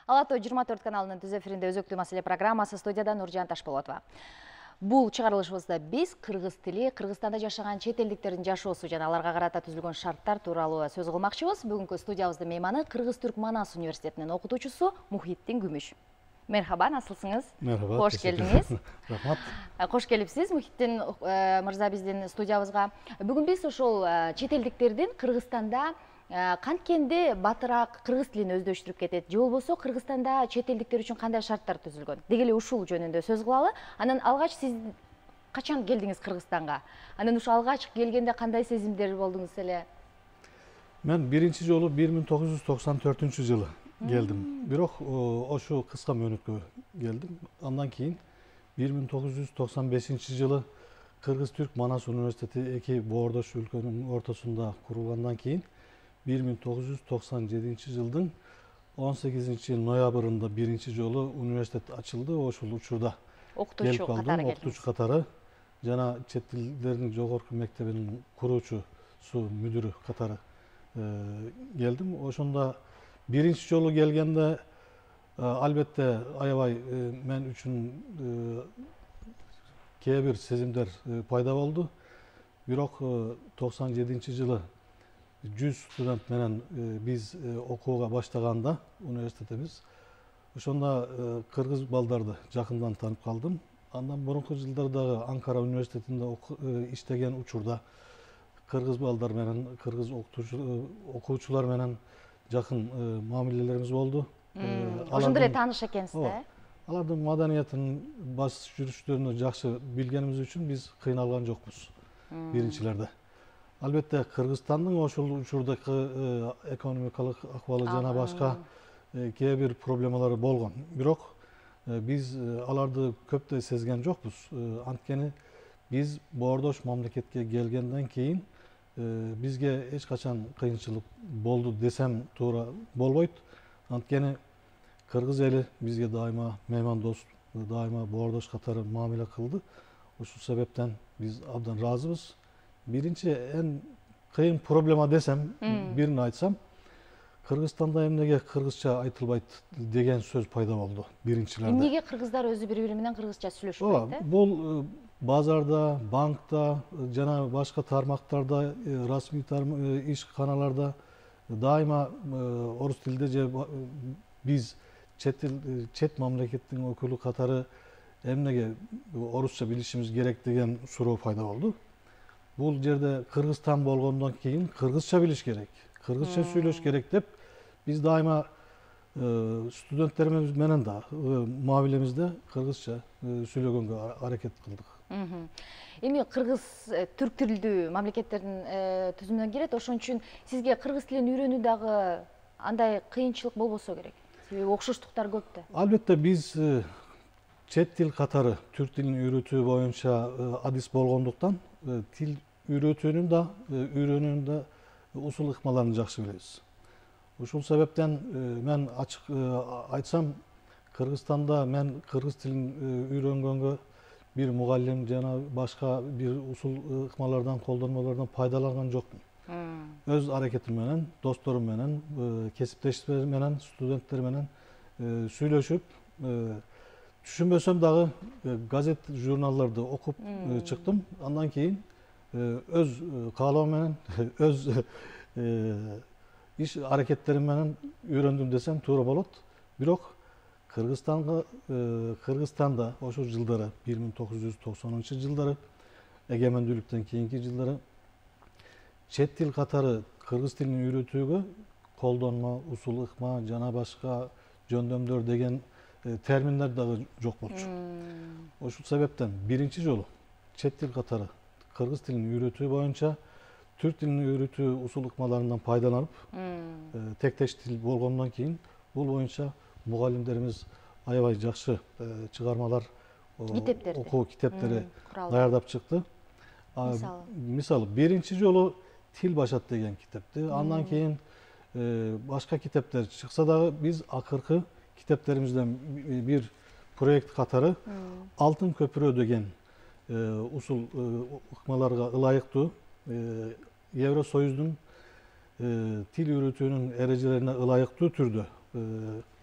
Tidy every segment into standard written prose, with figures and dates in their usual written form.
Ала Той 24 каналынын түз эфиринде өзөктүү маселе программасы, студияда Нуржан Ташболотова. Бул чыгарылышыбызда биз кыргыз тили, Кыргызстанда жашаган чет элдиктердин жашоосу жана аларга карата түзүлгөн шарттар тууралуу сөз кылмакчыбыз. Бүгүнкү студиябыздын мейманы Кыргыз-Түрк Манас университетинин окутуучусу Мухиттин Күмүш. Мерхаба, насылсыңыз? Мерхаба. Кош келдиңиз. Рахмат. Кош келипсиз Мухиттин мырза биздин студиябызга. Бүгүн биз ошол чет элдиктердин Кыргызстанда канткенде батыраак кыргыз тилин өздөштүрүп кетет, же болбосо Кыргызстанда чет элдиктер үчүн кандай шарттар түзүлгөн? Деги эле ушул жөнүндө сөз кылалы. Анан алгач сиз качан келдиңиз Кыргызстанга? Анан ушу алгач келгенде кандай сезимдер болдуңуз эле? Мен биринчи жолу 1994-жылы келдим. Бирок ошо кыска мөөнөткө келдим. Андан кийин 1995-жылы Кыргыз-Түрк Манас университети эки боордош өлкөнүн ортосунда курулгандан кийин 1997-жылдын 18 ноябрында биринчи жолу университет ачылды. Ошол учурда Окутуучу катары келдиңиз. Окутуучу катары жана чет тилдердин жогорку мектебинин куруучусу, мүдүрү катары келдим. Ошондо биринчи жолу келгенде албетте аябай мен үчүн кээ бир сезимдер пайда болду. Бирок 97-жылы 100 студент менен биз окууга баштаганда университетибиз, ошондо кыргыз балдарды жакындан таанып калдым. Андан мурунку жылдардагы Анкара университетинде иштеген учурда кыргыз балдар менен, кыргыз окуучулар менен жакын мамилелерибиз болду. Ошондо эле тааныш экенсиз да? Алардын маданиятын, баш жүрүштөрүн жакшы билгенибиз үчүн биз кыйналган жокпуз биринчилерде. Албетте Кыргызстандын ошол учурдагы экономикалык акыбалы жана башка кээ бир проблемалары болгон. Бирок биз аларды көп да сезген жокпуз. Анткени биз боордош мамлекетке келгенден кийин бизге эч качан кыйынчылык болду десем туура болбойт. Анткени кыргыз эли бизге дайыма меймандос, дайыма боордош катары мамиле кылды. Ушул себептен биз абдан ыраазыбыз. Биринчи эң кыйын проблема десем, бирин айтсам, Кыргызстанда эмнеге кыргызча айтылбайт деген сөз пайда болду биринчилерде. Эмнеге кыргыздар өзү бири-бири менен кыргызча сүйлөшпөйт? Бул базарда, банкта жана башка тармактарда, расмий ишканаларда дайыма орус тилинде же биз чет мамлекеттин өкүлү катары эмнеге орусча билишибиз керек деген суроо пайда болду. Бул жерде Кыргызстан болгондон кийин кыргызча билиш керек, кыргызча сүйлөш керек деп биз дайыма студенттерибиз менен да мамилемизде кыргызча сүйлөгөнгө аракет кылдык. Эми кыргыз түрк тилдүү мамлекеттердин түзүмүнө кирет, ошон үчүн сизге кыргыз тилин үйрөнүү дагы андай кыйынчылык болбосо керек. Себеби окшоштуктар көп да. Албетте биз чет тил катары түрк тилин үйрөтүү боюнча адис болгондуктан тил үйрөтүүнүн да, үйрөнүүнүн да усул ыкмаларын жакшы билебиз. Ушул себептен мен ачык айтсам, Кыргызстанда мен кыргыз тилин үйрөнгөнгө бир мугалим жана башка бир усул ыкмалардан, колдонмолордон пайдаланган жокмун. Өз аракетим менен, досторум менен, кесиптештерим менен, студенттер менен сүйлөшүп, түшүнбөсөм дагы газет, журналдарды окуп чыктым. Андан кийин өз каалоом менен, өз иш аракеттерим менен үйрөндүм десем туура болот. Бирок Кыргызстанда ошол жылдары 1990-жылдары эгемендүүлүктөн кийинки жылдары чет тил катары кыргыз тилин үйрөтүүгө колдонмо, усул ыкма жана башка жөндөмдөр деген терминдер дагы жок болчу. Ошол себептен биринчи жолу чет тил катары кыргыз тилин үйрөтүү боюнча түрк тилин үйрөтүү усул ыкмаларынан пайдаланып, тектеш тил болгондон кийин бул боюнча мугалимдерибиз аябай жакшы чыгармалар, окуу китептери даярдап чыкты. Мисалы, биринчи жолу Тил башат деген китепти, андан кийин башка китептер чыкса дагы биз акыркы китептерибизден бир проект катары Алтын көпүрө деген усул ыкмаларга ылайыктуу Евросоюздун тил үйрөтүүнүн эрежелерине ылайыктуу түрдө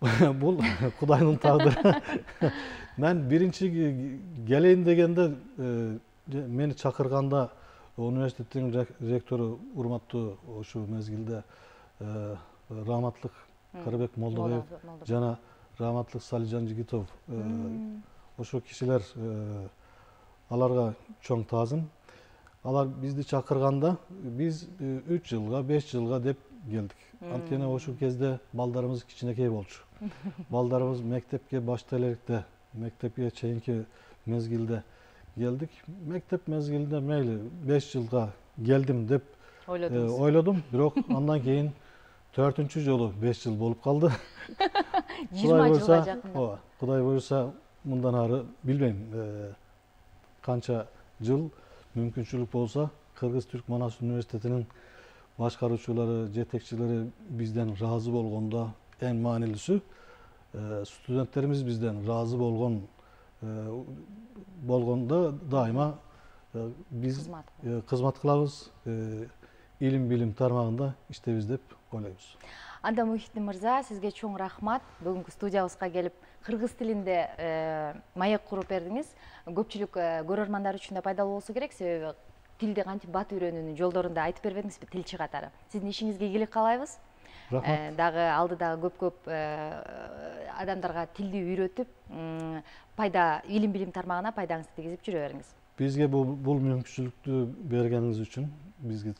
Бул Кудайдын тагдыры. Мен биринчи келейин дегенде мени чакырганда университеттин ректору урматтуу ошол мезгилде Раматлык Карабек Молдобаев жана Раматлык Салижан Жигитов ошол кишилер аларга чоң таазым. Алар бизди чакырганда биз 3 жылга 5 жылга деп келдик. Анткени ошол кезде балдарыбыз кичинекей болчу. Балдарыбыз мектепке башта электе, мектепке чейинки мезгилде келдик. Мектеп мезгилинде мейли 5 жылга келдим деп ойлодум, бирок андан кийин 4-чү жолу 5 жыл болуп калды. 20 жылга жакын. Кудай буюрса мындан ары билбейм канча жыл мүмкүнчүлүк болсо Кыргыз-Түрк Манас университетинин башкаруучулары, жетекчилери бизден разы болгондо эң маанилүүсү студенттерибиз бизден разы болгондо дайыма биз кызмат кылабыз, илим билим тармагында иштейбиз деп ойлойбуз. Анда Мухитдин мырза, сизге чоң рахмат. Бүгүнкү студиябызга келип кыргыз тилинде маек куруп бердиңиз. Көпчүлүк көрөрмандар үчүн да пайдалуу болсо керек, себеби тилди кантип бат үйрөнүүнүн жолдорун да айтып бербедиңизби тилчи катары. Сиздин ишиңизге ийгилик каалайбыз. Рахмат. Дагы алдыдагы көп адамдарга тилди үйрөтүп, илим билим тармагына пайдаңызды тийгизип жүрө бериңиз. Бизге бул мүмкүнчүлүктү бергениңиз үчүн, бизге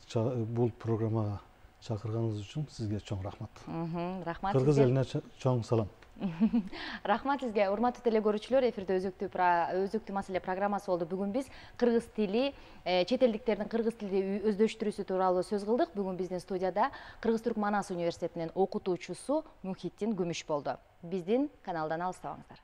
бул программага чакырганыңыз үчүн сизге чоң рахмат. Рахмат. Кыргыз элине чоң салам. Рахмат сизге. Урматтуу телекөрүүчүлөр, эфирде өзөктүү маселе программасы болду. Бүгүн биз кыргыз тили, чет элдиктердин кыргыз тилди өздөштүрүүсү тууралуу сөз кылдык. Бүгүн биздин студияда Кыргыз-Түрк Манас университетинин окутуучусу Мухитдин Күмүш болду. Биздин каналдан алыстабаңыздар.